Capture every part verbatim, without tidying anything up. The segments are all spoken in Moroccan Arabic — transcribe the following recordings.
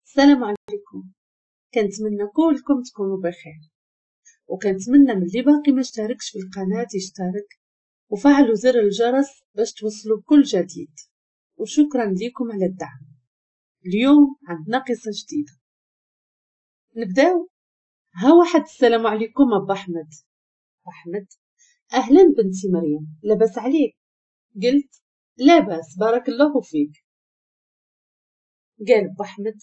السلام عليكم. كنتمنى كلكم تكونوا بخير، وكنتمنى من اللي باقي ما اشتركش في القناة يشترك وفعلوا زر الجرس باش توصلوا بكل جديد، وشكرا لكم على الدعم. اليوم عندنا قصة جديدة، نبداو. ها واحد السلام عليكم ابا احمد. احمد: اهلا بنتي مريم، لاباس عليك؟ قلت: لاباس بارك الله فيك. قال ابو احمد: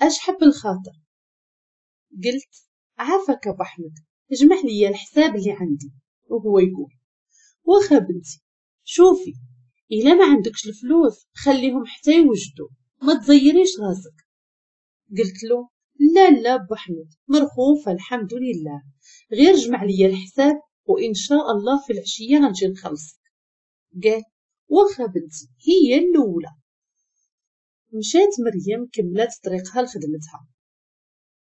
اش حب الخاطر؟ قلت: عافاك ابو احمد، اجمع لي الحساب اللي عندي. وهو يقول: واخا بنتي، شوفي الا ما عندكش الفلوس خليهم حتى يوجدوا، ما تزيريش راسك. قلت له: لا لا ابو احمد، مرخوفه الحمد لله، غير جمع لي الحساب وان شاء الله في العشية غنجي نخلصك. قال: واخا بنتي، هي الاولى. مشات مريم كملت طريقها لخدمتها.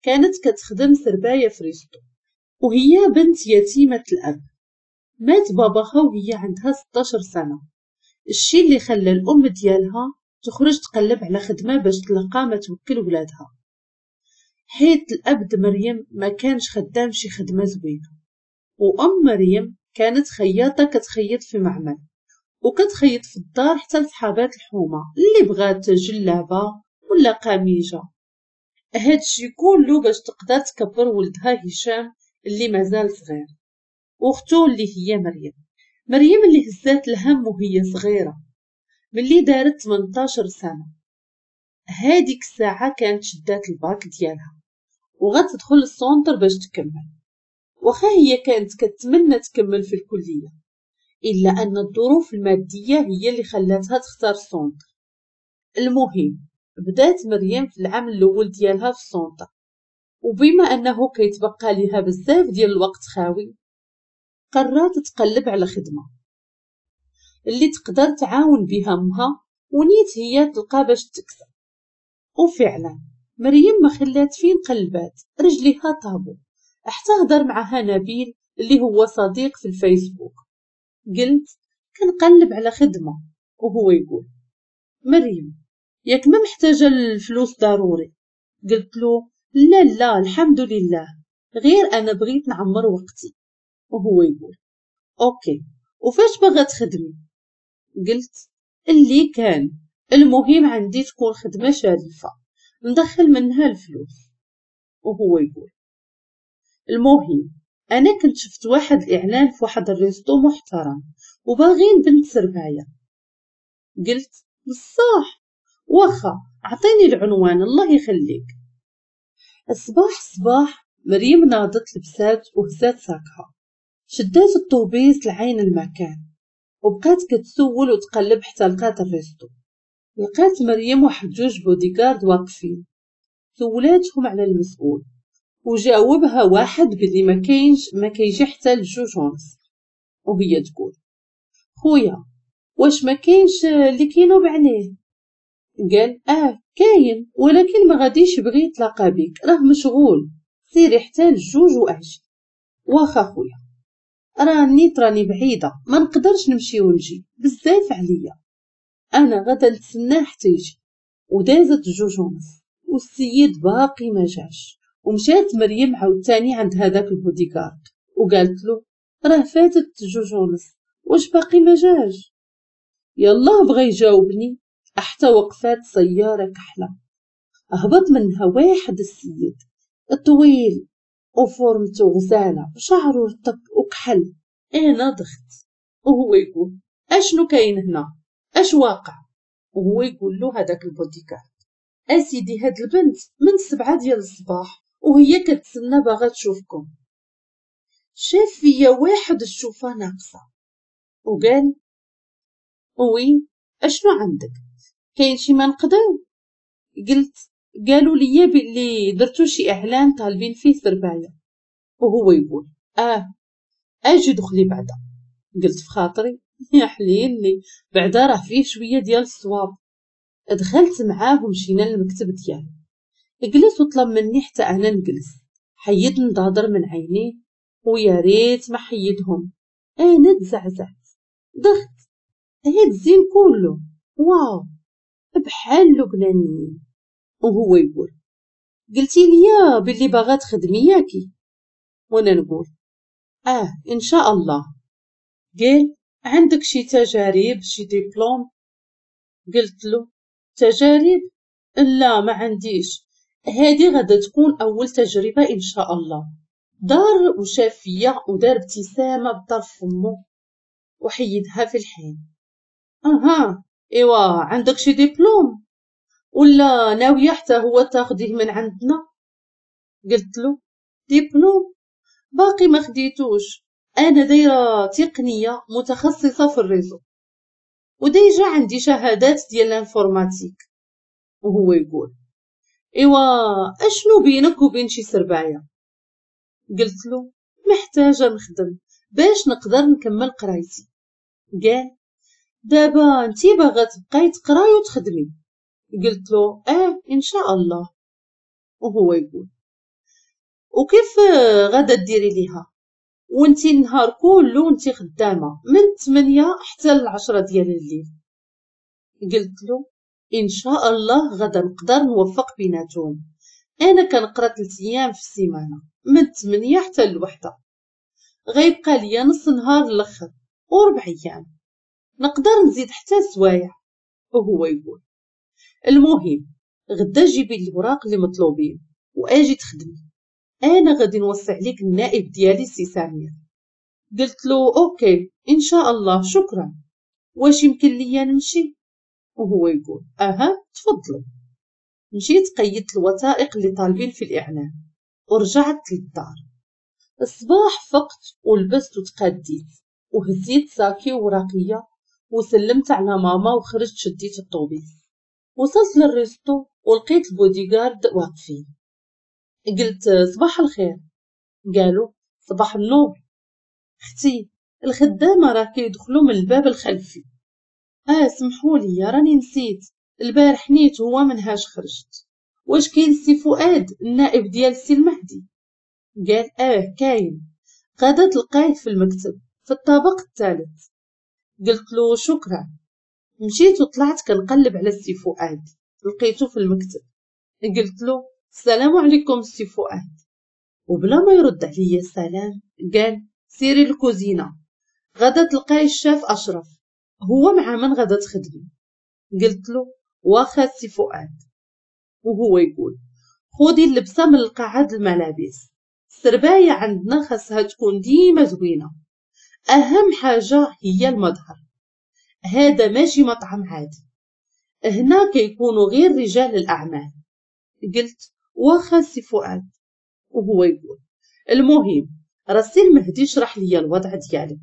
كانت كتخدم سربايه في resto، وهي بنت يتيمة الاب. مات باباها وهي عندها ستاشر سنة، الشي اللي خلى الام ديالها تخرج تقلب على خدمة باش تلقى ما توكل ولادها، حيت الاب د مريم ما كانش خدام شي خدمة زوينة. وام مريم كانت خياطة كتخيط في معمل، وكتخيط في الدار حتى لصحابات الحومه اللي بغات جلابه ولا قميجه. هادشي كله باش تقدر تكبر ولدها هشام اللي مازال صغير، واختو اللي هي مريم. مريم اللي هزات الهم وهي صغيرة، ملي دارت ثمنطاشر سنة. هاديك الساعة كانت شدات الباك ديالها وغتدخل ال centre باش تكمل. واخا هي كانت كتمنى تكمل في الكلية، الا ان الظروف المادية هي اللي خلاتها تختار ال centre. المهم بدات مريم في العام الاول ديالها في ال centre، وبما انه كيتبقى ليها بزاف ديال الوقت خاوي، قررت تقلب على خدمة اللي تقدر تعاون بها امها، ونيت هي تلقى باش تكسب. وفعلا مريم ما خلات فين قلبات، رجليها طابو حتى هضر معها نبيل اللي هو صديق في الفيسبوك. قلت: كنقلب على خدمة. وهو يقول: مريم ياك ما محتاجه الفلوس ضروري؟ قلت له: لا لا الحمد لله، غير انا بغيت نعمر وقتي. وهو يقول: OK، وفاش باغا تخدمي؟ قلت: اللي كان، المهم عندي تكون خدمة شريفه ندخل منها الفلوس. وهو يقول: المهم انا كنت شفت واحد الاعلان في واحد ال resto محترم وباغين بنت سربايه. قلت: بصح؟ واخا عطيني العنوان الله يخليك. الصباح الصباح مريم ناضت لبسات وهزات ساكها، شدات الطوبيس لعين المكان، وبقات كتسول وتقلب حتى لقات ال resto. لقات مريم واحد جوج بودي جارد واقفين، سولاتهم على المسؤول وجاوبها واحد باللي ما كاينش، ما كيجي حتى لجوج ونص. وهي تقول: خويا واش ما كاينش اللي كينوب عليه؟ قال: اه كاين، ولكن ما غاديش يبغي يتلاقى بك، راه مشغول، سيري حتى لجوج واجي. واخا خويا، راني راني بعيدة ما نقدرش نمشي ونجي، بزاف عليا، انا غدا نتسناه حتى يجي. ودازت جوج ونص والسيد باقي ما جاش. ومشات مريم عاوتاني عند هذاك البوديكارد وقالت له: راه فاتت جوج ونص، واش باقي ما جاش؟ يلا بغى يجاوبني حتى وقفات سيارة كحلة، هبط منها واحد السيد طويل وفورمته غزاله وشعره رطب وكحل. انا ضخت. وهو يقول: اشنو كاين هنا؟ اش واقع؟ وهو يقول له هذاك البوديكارد: اسيدي هاد البنت من سبعة ديال الصباح وهي كتسنى باغا تشوفكم. شاف فيا واحد الشوفه ناقصه وقال: oui اشنو عندك؟ كاين شي ما نقدر؟ قلت: قالوا لي باللي درتو شي اعلان طالبين فيه سربايه. وهو يقول: اه اجي دخلي بعدا. قلت في خاطري: يا حليلي، بعدا راه فيه شوية ديال الصواب. دخلت معاه ومشينا للمكتب ديالو. جلس وطلب مني حتى انا نجلس. حيد نضادر من عينيه ويا ريت ما حيدهم. انا تزعزعت، ضغط هاد الزين كله، واو بحال لبنانيين. وهو يقول: قلتي لي باللي باغا تخدمي ياكي؟ وانا نقول اه ان شاء الله. قال عندك شي تجارب شي دبلوم؟ قلت له تجارب؟ لا ما عنديش، هذه غادا تكون اول تجربه ان شاء الله. دار وشاف فيا ودار ابتسامة بطرف فمو وحيدها في الحين. اها ايوا عندك شي دبلوم ولا ناوية حتى هو تاخديه من عندنا؟ قلت له دبلوم باقي ما خديتوش، انا دايرة تقنية متخصصة في ال réseau و déjà عندي شهادات ديال l'informatique. وهو يقول ايوا اشنو بينك وبين شي سربايه؟ قلت له محتاجه نخدم باش نقدر نكمل قرايتي. قال دابا انتي باغا تبقاي تقراي وتخدمي؟ قلت له اه ان شاء الله. وهو يقول وكيف غادا ديري ليها وانتي النهار كله وانتي خدامه من ثمانية حتى العشرة ديال الليل؟ قلت له ان شاء الله غادا نقدر نوفق بيناتهم، انا كنقرا ثلاث ايام في السيمانة من ثمانية حتى الوحدة، غيبقى ليا نص نهار الاخر وربع ايام نقدر نزيد حتى سوايع. وهو يقول المهم غدا جيبي الوراق اللي مطلوبين واجي تخدمي، انا غادي نوصي عليك النائب ديالي سي سمير. قلت له OK ان شاء الله شكرا، واش يمكن ليا نمشي؟ وهو يقول اها تفضلي. مشيت قيدت الوثائق اللي طالبين في الاعلان ورجعت للدار. الصباح فقت ولبست وتقديت وهزيت ساكي وراقيه وسلمت على ماما وخرجت شديت الطوبيس. وصلت لل resto ولقيت البوديغارد واقفين. قلت صباح الخير، قالوا صباح النور. اختي الخدامة راه كيدخلوا من الباب الخلفي. اه سمحوا لي راني نسيت، البارح نيت هو منهاش خرجت. واش كاين سي فؤاد النائب ديال سي المهدي؟ قال اه كاين، غادا تلقاه في المكتب في الطابق الثالث. قلت له شكرا. مشيت وطلعت كنقلب على السي فؤاد، لقيته في المكتب. قلت له السلام عليكم السي فؤاد، وبلا ما يرد عليا السلام قال سيري الكوزينة غادا تلقاي الشاف اشرف، هو مع من غادا تخدمي. قلت له واخا السي فؤاد. وهو يقول خودي اللبسه من القاعة الملابس، السربايه عندنا خاصها تكون ديما زوينة، اهم حاجة هي المظهر، هذا ماشي مطعم عادي، هنا كيكونوا غير رجال الاعمال. قلت واخا سي فؤاد. وهو يقول المهم راه سي المهدي شرح لي الوضع ديالك،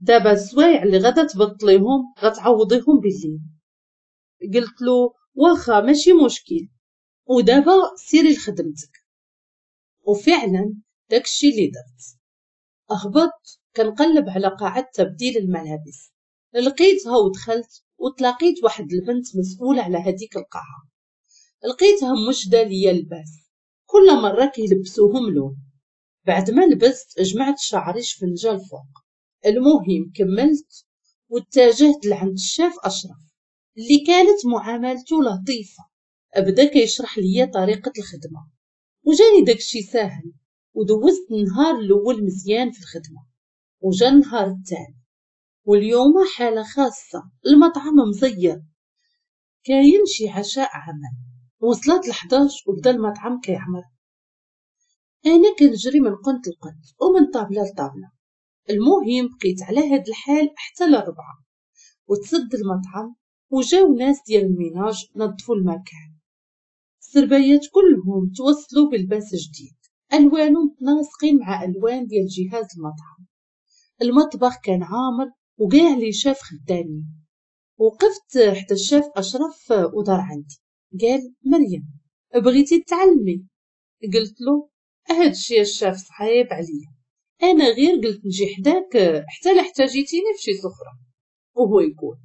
دابا السوايع اللي غادا تبطليهم غتعوضيهم بالليل. قلت له واخا ماشي مشكل، ودابا سيري لخدمتك. وفعلا داكشي اللي درت، هبطت كنقلب على قاعة تبديل الملابس، لقيتها ودخلت وتلاقيت واحد البنت مسؤولة على هذيك القاعة، لقيتها مشدة ليا لباس، كل مرة كيلبسوهم لون. بعد ما لبست جمعت شعري شفنجة الفوق. المهم كملت واتجهت لعند الشاف أشرف اللي كانت معاملته لطيفة، بدا كيشرح ليا طريقة الخدمة وجاني داكشي ساهل، ودوزت النهار الأول مزيان في الخدمة. وجا النهار الثاني واليوم حالة خاصة، المطعم مزير، كاين شي عشاء عمل. وصلت لحداش وبدا المطعم كيعمر، انا كنجري من قنت لقنت ومن طابله لطابله. المهم بقيت على هاد الحال حتى للربعة وتسد المطعم، وجاو ناس ديال ال ménage نظفوا المكان. السربيات كلهم توصلوا بلباس جديد، الوانهم متناسقين مع الوان ديال جهاز المطعم. المطبخ كان عامر وكاع les chefs خدامين. وقفت حتى الشاف اشرف ودار عندي، قال مريم بغيتي تعلمي؟ قلت له هاد الشيء الشاف صعيب عليا، انا غير قلت نجي حداك حتى لا احتاجيتيني في شي سخره. وهو يقول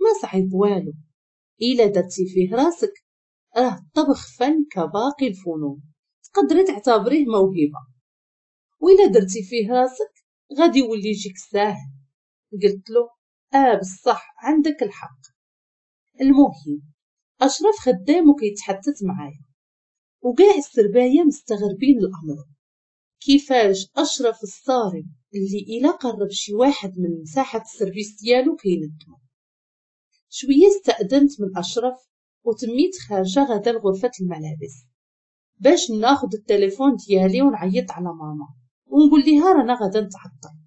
ما صعيب والو، الا درتي فيه راسك راه الطبخ فن كباقي الفنون، تقدري تعتبريه موهبة، وإلا درتي فيه راسك غادي يولي يجيك ساهل. قلت له اه بصح عندك الحق. المهم اشرف خدام وكيتحدث معايا، وكاع السربايه مستغربين الامر، كيفاش اشرف الصارم اللي الا قرب شي واحد من مساحة ال service ديالو كيندمو. شوية استأذنت من اشرف وتميت خارجه غدا لغرفة الملابس باش ناخذ التليفون ديالي ونعيط على ماما ونقول ليها رانا غدا نتعطل.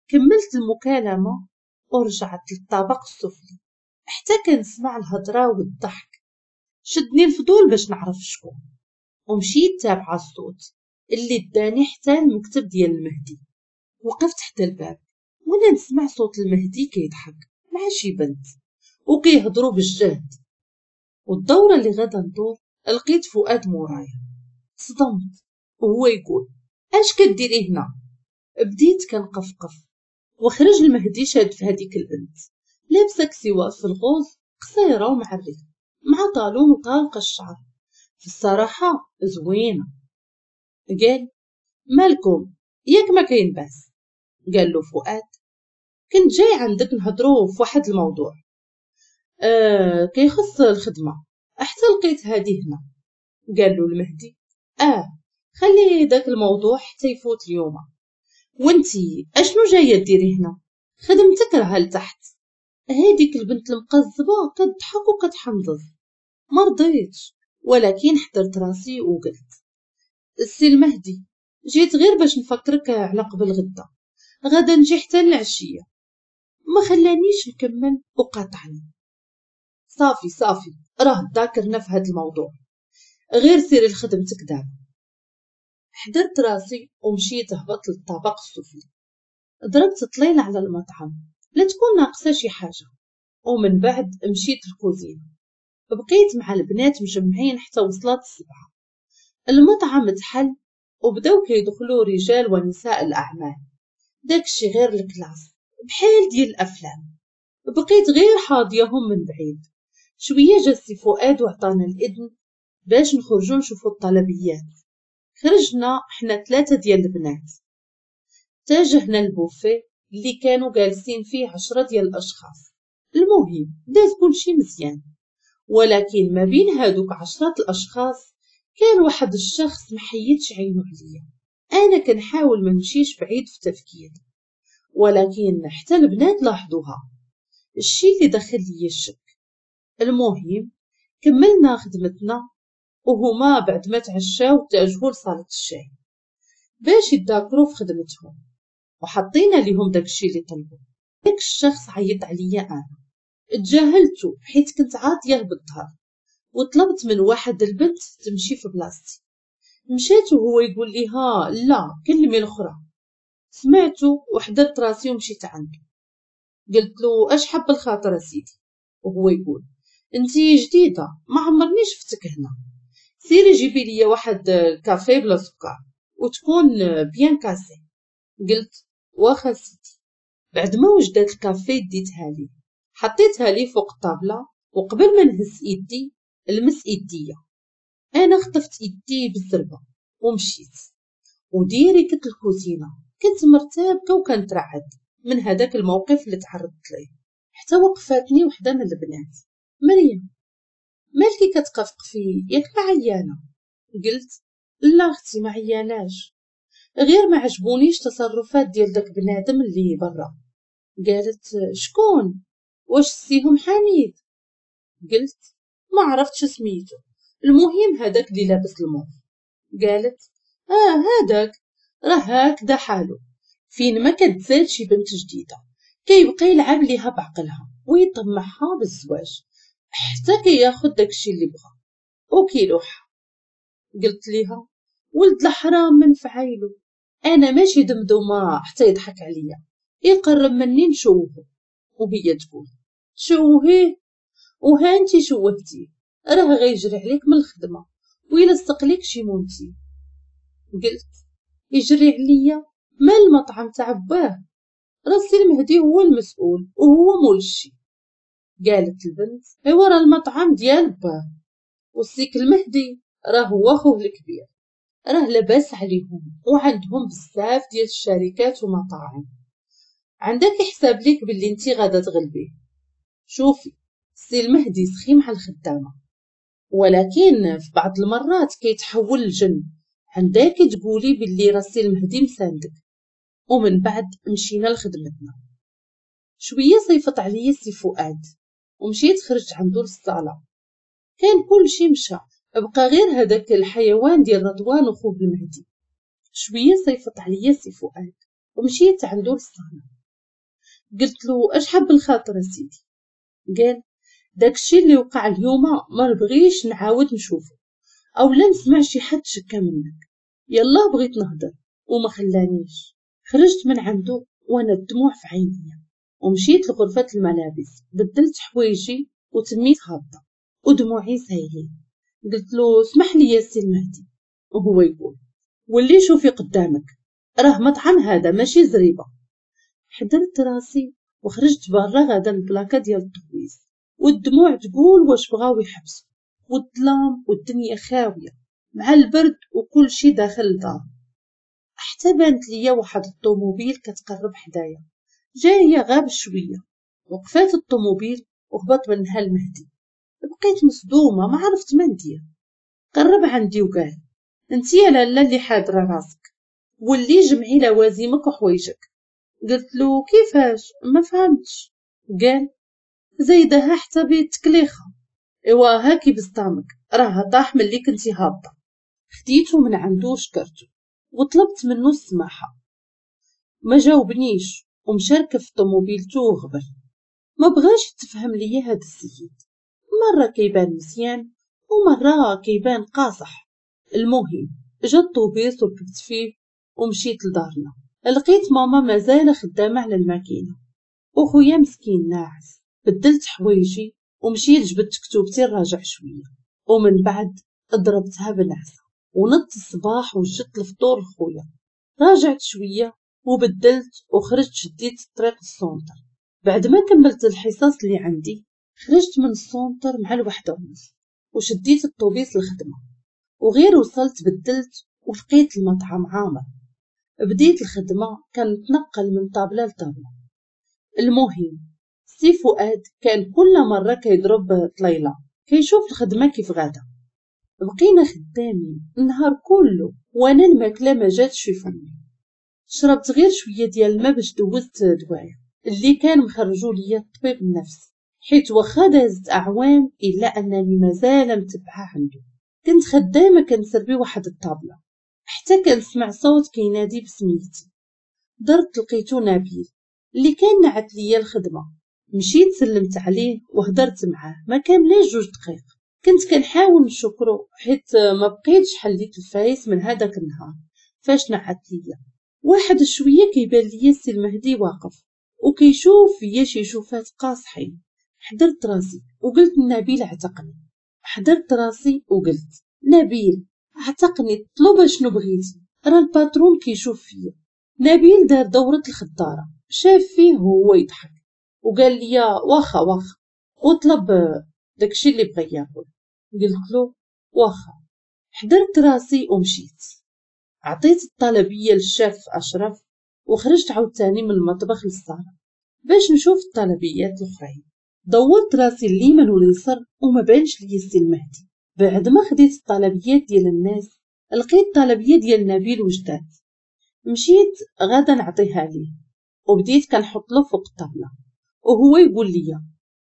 كملت المكالمة ورجعت للطابق السفلي حتى كنسمع الهضرة والضحك. شدني الفضول باش نعرف شكون، ومشيت تابعه الصوت اللي داني حتى المكتب ديال المهدي. وقفت حتى الباب وانا نسمع صوت المهدي كيضحك مع شي بنت وكيهضروا بالجهد. والدوره اللي غادا ندور لقيت فؤاد مورايا. صدمت وهو يقول اش كديري هنا؟ بديت كنقفقف وخرج المهدي شاد في هذيك البنت لابسه كسوه في الغوز قصيرة ومعريه مع talon وطالقه الشعر، في الصراحة زوينة. قال مالكم ياك ما كاين باس؟ قال له فؤاد كنت جاي عندك نهضروا في واحد الموضوع آه كيخص الخدمة حتى لقيت هادي هنا. قال له المهدي اه خلي داك الموضوع حتى يفوت اليوم، وانتي اشنو جاية ديري هنا؟ خدمتك راها لتحت. هاديك البنت المقزبه كتضحك وكتحنضز. ما رضيتش ولكن حضرت راسي وقلت السي المهدي جيت غير باش نفكرك على قبل غدا، غدا نجي حتى العشية. ما خلانيش نكمل وقاطعني. صافي صافي راه ذاكرنا في هذا الموضوع، غير سيري لخدمتك دابا. حضرت راسي ومشيت هبطت للطابق السفلي، ضربت طليل على المطعم لا تكون ناقصه شي حاجة، ومن بعد مشيت للكوزينه. بقيت مع البنات مجمعين حتى وصلت السبعة. المطعم تحل وبداو كيدخلوا رجال ونساء الاعمال، داكشي غير ال classe بحال ديال الافلام. بقيت غير حاضيهم من بعيد. شوية جا السي فؤاد وعطانا الاذن باش نخرجوا نشوفوا الطلبيات. خرجنا حنا ثلاثة ديال البنات، اتجهنا للبوفيه اللي كانوا جالسين فيه عشرة ديال الاشخاص. المهم داز كلشي مزيان، ولكن ما بين هادوك عشرة الاشخاص كان واحد الشخص محيدش عينو عليا. انا كنحاول ما نمشيش بعيد في تفكيري، ولكن حتى البنات لاحظوها، الشي اللي دخل لي الشك. المهم كملنا خدمتنا وهما بعد ما تعشاو اتجهوا لصالة الشاي باش يتذاكروا في خدمتهم، وحطينا لهم داكشي اللي طلبوا. داك الشخص عيط عليا انا، تجاهلته حيت كنت عاطيه بالظهر، وطلبت من واحد البنت تمشي في بلاصتي. مشات وهو يقول ليها لا كلمي الاخرى. سمعته وحضرت راسي ومشيت عنده. قلت له اش حب الخاطر سيدي؟ وهو يقول انتي جديدة ما عمرني شفتك هنا، سيري جيبي لي واحد الكافي بلا سكر وتكون bien cassée. قلت واخا سيدي. بعد ما وجدت الكافي ديتها لي، حطيتها لي فوق الطابله، وقبل ما نهز ايدي لمس ايديا. انا خطفت ايدي بالزربه ومشيت و direct الكوزينة. كنت مرتبكه وكنترعد من هذاك الموقف اللي تعرضت ليه، حتى وقفاتني وحده من البنات. مريم مالكي كتقفقفي ياك ما عيانه؟ قلت لا اختي ما عياناش، غير ما عجبونيش تصرفات ديال داك بنادم اللي برا. قالت شكون؟ واش سيهم حميد؟ قلت ما عرفتش سميتو، المهم هذاك اللي لابس الموف. قالت اه هذاك راه هكذا حالو، فين ما كتزاد شي بنت جديدة كيبقى يلعب ليها بعقلها ويطمعها بالزواج حتى كياخد داكشي اللي بغا وكيلوحها. قلت ليها ولد الحرام من فعايلو، انا ماشي دمدومه حتى يضحك عليا، يقرب مني نشوهو. وهي تقول شوهيه وها انتي شوهتيه، راه غيجري عليك من الخدمة ويلصق ليك شي مونتي. قلت يجري عليا؟ مال المطعم تاع باه، راسي المهدي هو المسؤول وهو مول الشي. قالت البنت ايوا راه المطعم ديال باه والسيك المهدي راه هو خوه الكبير، راه لاباس عليهم وعندهم بزاف ديال الشركات ومطاعم، عندك حساب ليك باللي انتي غادا تغلبيه. شوفي السي المهدي سخي مع الخدامة، ولكن في بعض المرات كيتحول لجن، عندك تقولي باللي راسي المهدي مساندك. ومن بعد مشينا لخدمتنا. شوية صيفط عليا سي فؤاد ومشيت خرجت عنده للصاله، كان كل شي مشى، بقى غير هذاك الحيوان ديال رضوان وخوه المهدي. شوية صيفط عليا سي فؤاد ومشيت عنده للصاله، قلت له اش حب الخاطر سيدي؟ قال داكشي اللي وقع اليوم ما نبغيش نعاود نشوفه او لا نسمع شي حد شكا منك. يلا بغيت نهضر وما خلانيش. خرجت من عنده وانا الدموع في عيني، ومشيت لغرفة الملابس، بدلت حوايجي وتميت هابطة ودموعي سايلين. قلت له اسمح لي يا سي المهدي، وهو يقول واللي شوفي قدامك راه مطعم هذا ماشي زريبه. حضرت راسي وخرجت برا غادا البلاكه ديال الطويس، والدموع تقول واش بغاو يحبسوا، والظلام والدنيا خاوية مع البرد وكل شي داخل الدار. حتى بانت ليا واحد الطوموبيل كتقرب حدايا، جاية غاب شوية. وقفات الطوموبيل وهبط منها المهدي. بقيت مصدومة ما عرفت ما ندير. قرب عندي وقال انتي يا لاله اللي حاضره راسك، واللي جمعي لوازمك وحوايجك. قلت له كيفاش؟ ما فهمتش. قال زايدها حتى بيتكليخه، ايوا هاكي بسطامك راه طاح ملي كنتي هابطة. خديته من عنده وشكرته وطلبت منه السماحة، ما جاوبنيش ومشى ركب في طوموبيلته وغبر. ما بغاش تفهم ليا هاد السيد، مرة كيبان مزيان ومرة كيبان قاصح. المهم جا الطوبيس وركبت فيه ومشيت لدارنا. لقيت ماما مازال خدامه على الماكينة وخويا مسكين ناعس. بدلت حوايجي ومشيت جبدت كتوبتي نراجع شوية، ومن بعد ضربتها بالعصا ونضت الصباح وجدت الفطور لخويا. راجعت شوية وبدلت وخرجت شديت الطريق لل centre. بعد ما كملت الحصص اللي عندي خرجت من ال centre مع الوحدة ونص وشديت الطوبيس للخدمة. وغير وصلت بدلت ولقيت المطعم عامر. بديت الخدمة كنتنقل من طابله لطابله. المهم سي فؤاد كان كل مرة كيضرب طليله كيشوف الخدمة كيف غاده. بقينا خدامين النهار كله وانا الماكلة ما جاتش في فمي. شربت غير شوية ديال الماء باش دوزت دوايا اللي كان مخرجو ليا الطبيب النفسي، حيت واخا دازت اعوام الا انني مازال متبعة عنده. كنت خدامه كنسربي واحد الطابله حتى كنسمع صوت كينادي بسميتي. درت لقيتو نبيل اللي كان نعت ليا الخدمة. مشيت سلمت عليه وهدرت معاه ما كاملاش جوج دقائق. كنت كنحاول نشكرو حيت ما بقيتش حليت الفايس من هذاك النهار فاش نعت ليا. واحد شوية كيبان ليا السي المهدي واقف وكيشوف فيا شي شوفات قاصحين. حضرت راسي وقلت نبيل اعتقني. حضرت راسي وقلت نبيل اعتقني، طلب شنو بغيتي، راه ال patron كيشوف فيا. نبيل دار دورة الخضاره، شاف فيه وهو يضحك وقال لي واخا واخا، وطلب داكشي اللي بغى ياكل. قلت له واخا. حضرت راسي ومشيت عطيت الطلبيه للشاف اشرف وخرجت عاوتاني من المطبخ للصاله باش نشوف الطلبيات الاخرين. دورت راسي اليمين واليسار وما بانش لي السي المهدي. بعد ما خديت الطلبيات ديال الناس لقيت الطلبيه ديال نبيل وجدات. مشيت غادا نعطيها ليه وبديت كنحط له فوق الطابله وهو يقول لي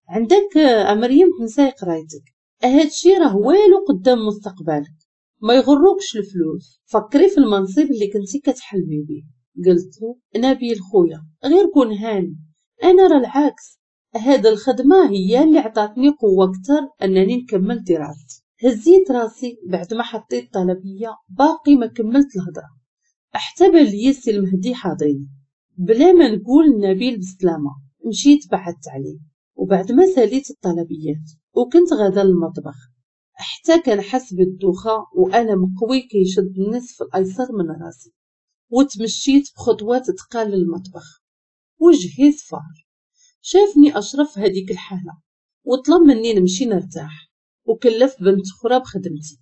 عندك مريم تنساي قرايتك، هادشي راه والو قدام مستقبلك، ما يغروكش الفلوس، فكري في المنصب اللي كنتي كتحلمي به. قلت له نبيل خويا غير كون هاني، انا راه العكس، هاد الخدمة هي اللي عطاتني قوة اكثر انني نكمل دراستي. هزيت راسي بعد ما حطيت طلبية، باقي ما كملت الهضرة حتى بان ليا السي المهدي حاضرني. بلا ما نقول نبيل بسلامه مشيت بعدت عليه. وبعد ما ساليت الطلبيات وكنت غادا للمطبخ حتى كنحس بالدوخه والم قوي كيشد النصف الايسر من راسي، وتمشيت بخطوات ثقال للمطبخ وجهي صفار. شافني اشرف هذيك الحالة وطلب مني نمشي نرتاح وكلف بنت اخرى بخدمتي.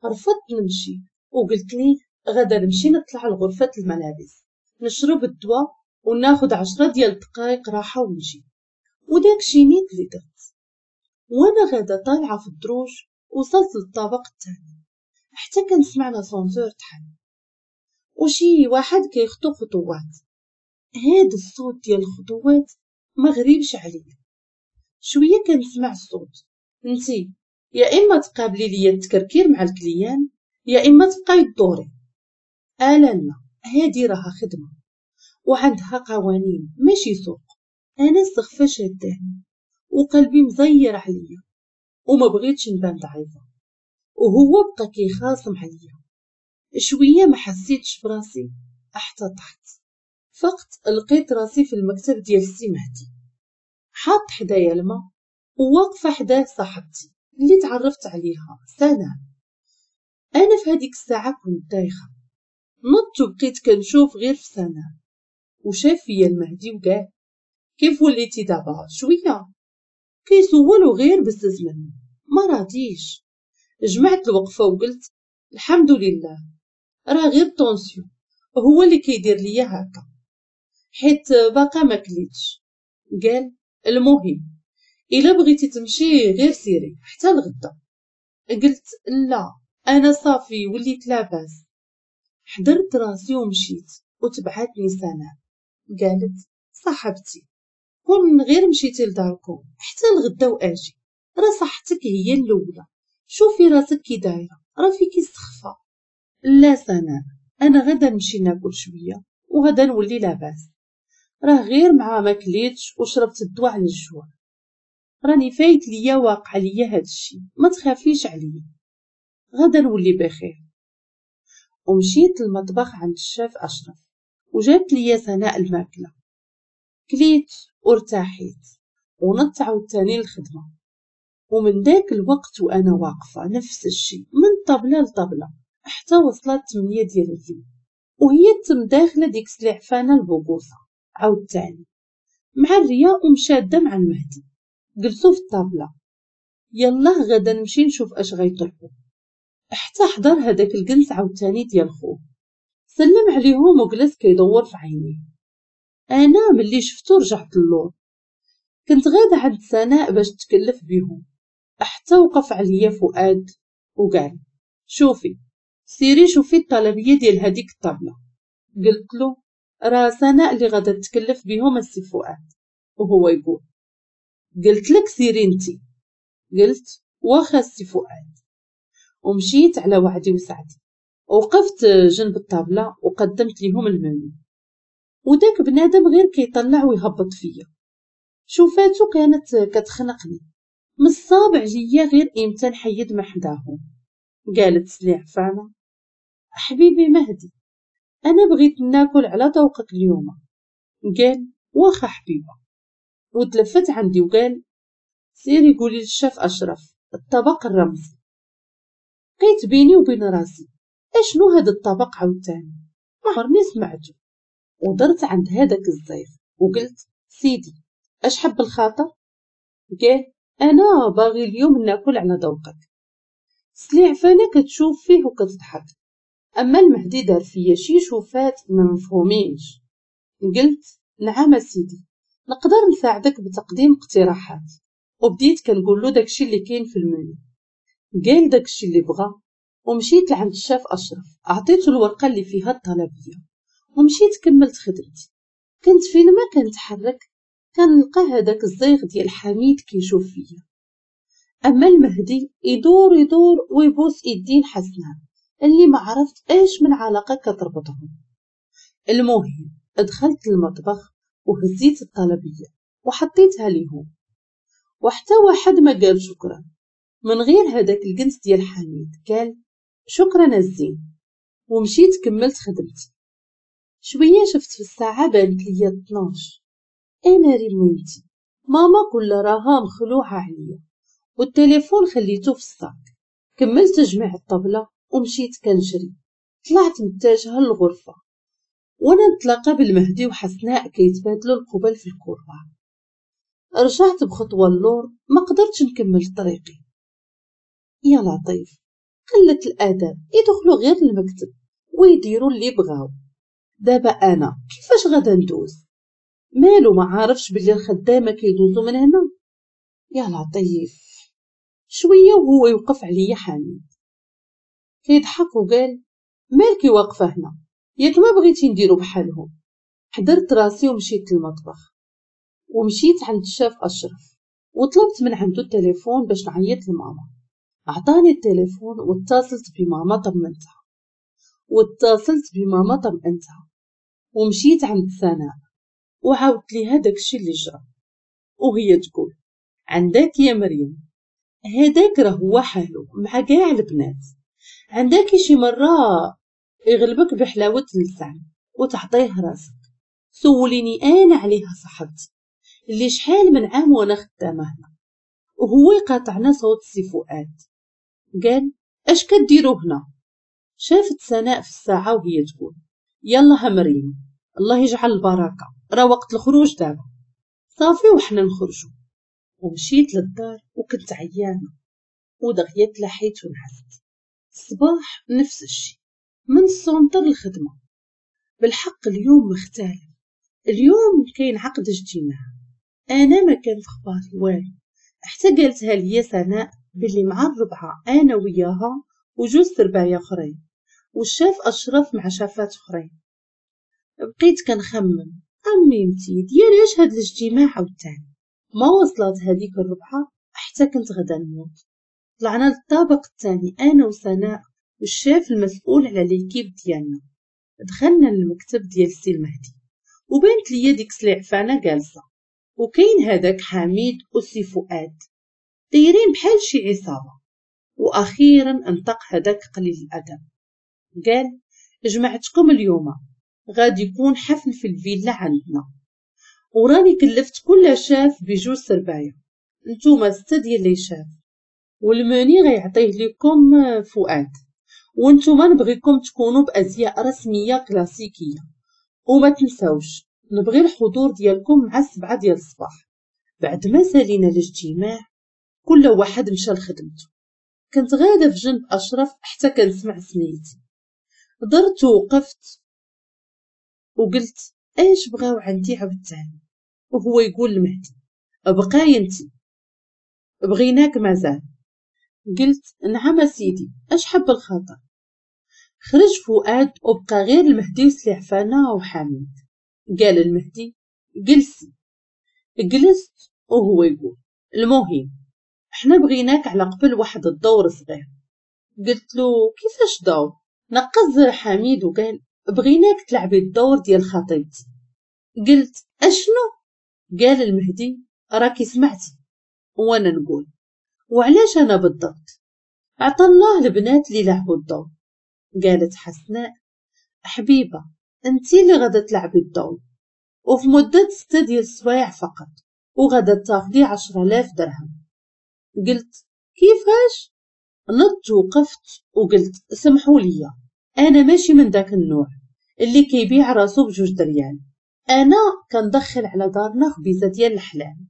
رفضت نمشي وقلت ليه غدا نمشي نطلع لغرفة الملابس نشرب الدواء وناخد عشرة ديال الدقائق راحة ونجي. وداك شي نيت اللي درت. وانا غادا طالعه في الدروج وصلت للطابق الثاني حتى كنسمع l'ascenseur تحل وشي واحد كيخطو خطوات. هاد الصوت ديال الخطوات ما غريبش عليا. شوية كنسمع الصوت، انتي يا اما تقابلي ليا التكركير مع ال client يا اما تبقاي تدوري. آه لا لا، هادي راها خدمة وعندها قوانين ماشي سوق. انا السخفه شاداني وقلبي مزير عليا وما بغيتش نبان ضعيفة، وهو بقى كيخاصم عليا. شوية ما حسيتش براسي حتى طحت. فقت لقيت راسي في المكتب ديال السي مهدي، حاط حدايا الماء وواقفه حداه صاحبتي اللي تعرفت عليها سناء. انا في هذيك الساعة كنت دايخه، نضت وبقيت كنشوف غير في سناء، وشاف فيا المهدي وقال كيف وليتي دابا شوية؟ كيسولو غير بزز منه، ما راضيش. جمعت الوقفة وقلت الحمد لله راه غير tension هو اللي كيدير ليا هكا حيت باقا ما كليتش. قال المهم الا بغيتي تمشي غير سيري حتى الغدا. قلت لا انا صافي وليت لاباس. حضرت راسي ومشيت وتبعتني سناء. قالت صاحبتي كون غير مشيتي لداركم حتى الغدا واجي، راه صحتك هي الاولى، شوفي راسك كي دايرة راه فيكي السخفه. لا سناء انا غدا نمشي ناكل شوية وغدا نولي لاباس، راه غير مع ما كليتش وشربت الدواء على الجوع، راني فايت ليا واقع ليا هاد الشيء، ما تخافيش عليا غدا نولي بخير. ومشيت للمطبخ عند الشيف اشرف وجابت ليا سناء الماكلة، كليت وارتاحيت ونضت عاوتاني للخدمة. ومن داك الوقت وانا واقفة نفس الشيء من طبله لطبله حتى وصلت ثمانية ديال الليل، وهي تم داخله ديك سلعفانه البوكوصه عاوتاني مع الرياء ومشاده مع المهدي. جلسوا في الطابله، يلاه غدا نمشي نشوف اش غيطلبوا، حتى حضر هذاك الجنس عاوتاني ديال خوه، سلم عليهم وجلس كيدور في عينيه. انا ملي شفتو رجعت اللور، كنت غاده عند سناء باش تكلف بيهم، حتى وقف عليا فؤاد وقال شوفي سيري شوفي الطلبيه ديال هذيك الطابله. قلت له راه سناء اللي غادا تكلف بيهم السي فؤاد، وهو يقول قلت لك سيري انتي. قلت واخا السي فؤاد، ومشيت على وعدي وسعدي، وقفت جنب الطابله وقدمت ليهم المنيو. وداك بنادم غير كيطلع ويهبط فيا، شوفاتو كانت كتخنقني، مصاب عليا غير امتى نحيد من حداهم. قالت سليعفانه حبيبي مهدي انا بغيت ناكل على ذوقك اليوم. قال واخا حبيبه، وتلفت عندي وقال سيري قولي للشيف اشرف الطبق الرمزي. بقيت بيني وبين راسي اشنو هذا الطبق عاوتاني، ما عمرني سمعته. ودرت عند هذاك الزيف وقلت سيدي اش حب الخاطر؟ قال انا باغي اليوم ناكل على ذوقك. سليعفانه كتشوف فيه وكتضحك، اما المهدي دار فيا شي شوفات ما مفهومينش. قلت نعم سيدي نقدر نساعدك بتقديم اقتراحات، وبديت كنقول له داكشي اللي كاين في المنيو. قال داكشي اللي بغا، ومشيت لعند الشاف اشرف عطيته الورقة اللي فيها الطلبيه ومشيت كملت خدمتي. كنت فين ما كنتحرك كنلقى هذاك الزيغ ديال حميد كيشوف فيا، اما المهدي يدور يدور ويبوس ايدين حسناء اللي ما عرفت ايش من علاقة كتربطهم. المهم دخلت المطبخ وهزيت الطلبيه وحطيتها ليهم، وحتى واحد ما قال شكرا من غير هذاك الجنس ديال حميد قال شكرا الزين، ومشيت كملت خدمتي. شوية شفت في الساعة بانت ليا اثناش. انا ريمونتي ماما كل راها مخلوعه عليا، والتليفون خليته في ال sac. كملت جميع الطبلة ومشيت كنجري، طلعت متجهة للغرفة وانا نتلاقى بالمهدي وحسناء كيتبادلوا القبل في ال couloir. رجعت بخطوة اللور ما قدرتش نكمل طريقي. يا لطيف قلة الادب، يدخلوا غير المكتب ويديروا اللي بغاو. دابا انا كيفاش غادا ندوز؟ مالو ما عارفش بلي الخدامة كيدوزو من هنا. يا لطيف. شوية وهو يوقف عليا حميد كيضحك وقال مالكي واقفة هنا، ياك ما بغيتي نديرو بحالهم. حضرت راسي ومشيت للمطبخ ومشيت عند الشاف اشرف وطلبت من عنده التليفون باش نعيط لماما. عطاني التليفون واتصلت بماما طمنتها واتصلت بماما طمنتها ومشيت عند سناء وعاودت ليها داكشي اللي جرى، وهي تقول عندك يا مريم هداك راه هو حالو مع كاع البنات، عندك شي مرة يغلبك بحلاوة اللسان وتعطيه راسك. سوليني انا عليها صاحبتي اللي شحال من عام وانا خدامه هنا. وهو يقاطعنا صوت سي فؤاد قال اش كديروا هنا؟ شافت سناء في الساعة وهي تقول يلا مريم الله يجعل البركة، راه وقت الخروج دابا. صافي وحنا نخرجوا. ومشيت للدار وكنت عيانه ودغيا تلاحيت ونعست. الصباح نفس الشيء من ال centre للخدمة. بالحق اليوم مختلف، اليوم كاين عقد اجتماع. انا ما كان في خباري والو حتى قالتها لي سناء باللي مع الربعه انا وياها وجوج سربايه اخرين والشاف اشرف مع شافات اخرين. بقيت كنخمم اميمتي ديال اش هاد الاجتماع عاوتاني. ما وصلت هذيك الربعه حتى كنت غدا نموت. طلعنا للطابق الثاني انا وسناء والشاف المسؤول على l'équipe ديالنا. دخلنا للمكتب ديال السي المهدي وبانت ليا ديك سليعفانه جالسة وكاين هذاك حميد وسي فؤاد دايرين بحال شي عصابة. واخيرا انطق هذاك قليل الادب قال جمعتكم اليوم غادي يكون حفل في الفيلا عندنا، وراني كلفت كل شاف بجوج سربايه، نتوما ستة ديال les chefs، وال menu غيعطيه لكم فؤاد، وانتوما نبغيكم تكونوا بازياء رسمية كلاسيكية، وما تنساوش نبغي الحضور ديالكم مع السبعة ديال الصباح. بعد ما سالينا الاجتماع كل واحد مشى لخدمته. كنت غاده في جنب اشرف حتى كنسمع سميتي. درت ووقفت وقلت ايش بغاو عندي عاوتاني؟ وهو يقول لمهدي بقاي انتي بغيناك مازال. قلت نعم سيدي اش حب الخاطر. خرج فؤاد وبقى غير المهدي وسليعفانه وحميد. قال المهدي جلسي. جلست وهو يقول المهم احنا بغيناك على قبل واحد الدور صغير. قلت له كيفاش دور؟ نقز حميد وقال بغيناك تلعبي الدور ديال خطيبتي. قلت اشنو؟ قال المهدي راكي سمعتي. وانا نقول وعلاش انا بالضبط؟ عطى الله البنات اللي لعبوا الدور. قالت حسناء حبيبه انتي اللي غادا تلعبي الدور وفي مده ستة ديال السوايع فقط وغادا تاخدي عشرة آلاف درهم. قلت كيفاش؟ نضت وقفت وقلت سمحوا لي انا ماشي من داك النوع اللي كيبيع راسو بجوج دريال، انا كندخل على دارنا خبيزه ديال الحلال.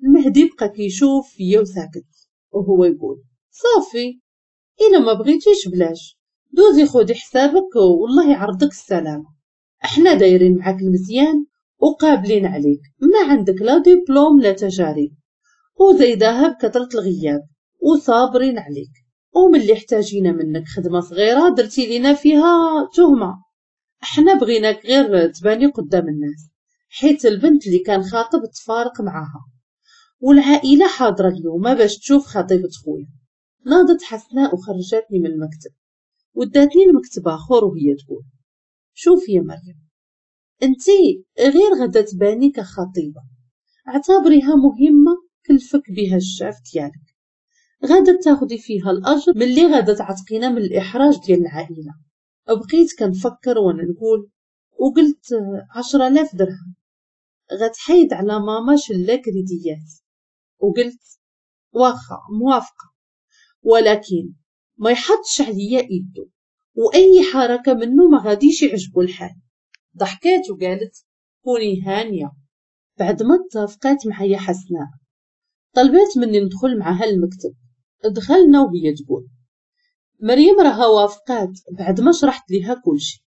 المهدي بقى كيشوف فيا وساكت وهو يقول صافي الا ما بغيتيش بلاش، دوزي خدي حسابك والله يعرضك السلامة، احنا دايرين معاك المزيان وقابلين عليك، ما عندك لا دبلوم لا تجارب وزايداها بكثرة الغياب وصابرين عليك، وملي احتاجينا منك خدمة صغيرة درتي لينا فيها تهمه، احنا بغيناك غير تباني قدام الناس حيت البنت اللي كان خاطب تفارق معاها والعائلة حاضره اليوم باش تشوف خطيبه خويا. ناضت حسناء وخرجتني من المكتب وداتني لمكتب اخر وهي تقول شوفي يا مريم انتي غير غدا تباني كخطيبه، اعتبريها مهمة كلفك بها الشاف ديالك، غادا تاخدي فيها الاجر ملي غادا تعتقينا من الاحراج ديال العائلة. بقيت كنفكر وانا نقول وقلت عشرة آلاف درهم غتحيد على ماما شلا كريديات، وقلت واخا موافقة ولكن ما يحطش عليا ايدو واي حركة منه ما غاديش يعجبو الحال. ضحكات وقالت كوني هانيه. بعد ما اتفقات معايا حسناء طلبات مني ندخل معاها المكتب. دخلنا وهي تقول مريم راها وافقات بعد ما شرحت ليها كلشي،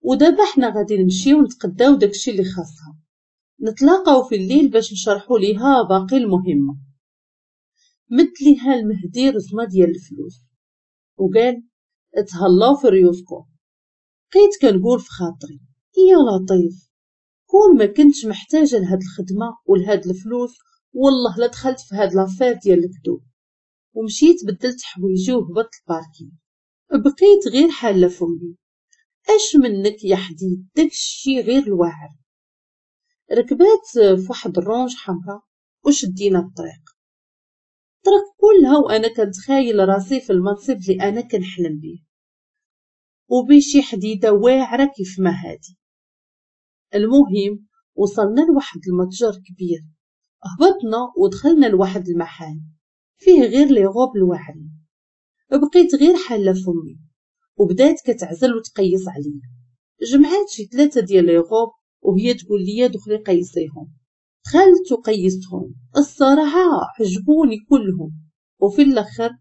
ودابا حنا غادي نمشيو نتقداو داكشي اللي خاصها، نتلاقاو في الليل باش نشرحو ليها باقي المهمة. مد ليها المهدي رزمه ديال الفلوس وقال تهلاو في ريوسكم. بقيت كنقول في خاطري يا لطيف، كون ما كنتش محتاجه لهاد الخدمة ولهاد الفلوس والله لا دخلت في هاد l'affaire ديال الكذوب. ومشيت بدلت حوايجي وهبطت ال parking. بقيت غير حاله فمي، اش منك يا حديد، داكشي غير الواعر. ركبات في واحد الرونج حمراء وشدينا الطريق. الطريق كلها وانا كنتخايل راسي في المنصب اللي انا كنحلم به، وبشي حديده واعرة كيف ما هادي. المهم وصلنا لواحد المتجر كبير، هبطنا ودخلنا لواحد المحل فيه غير les robes الواعرين. بقيت غير حاله فمي وبدات كتعزل وتقيس عليا. جمعات شي ثلاثة ديال les robes وهي تقول لي دخلي قيسيهم. دخلت وقيستهم، الصراحة عجبوني كلهم. وفي الاخر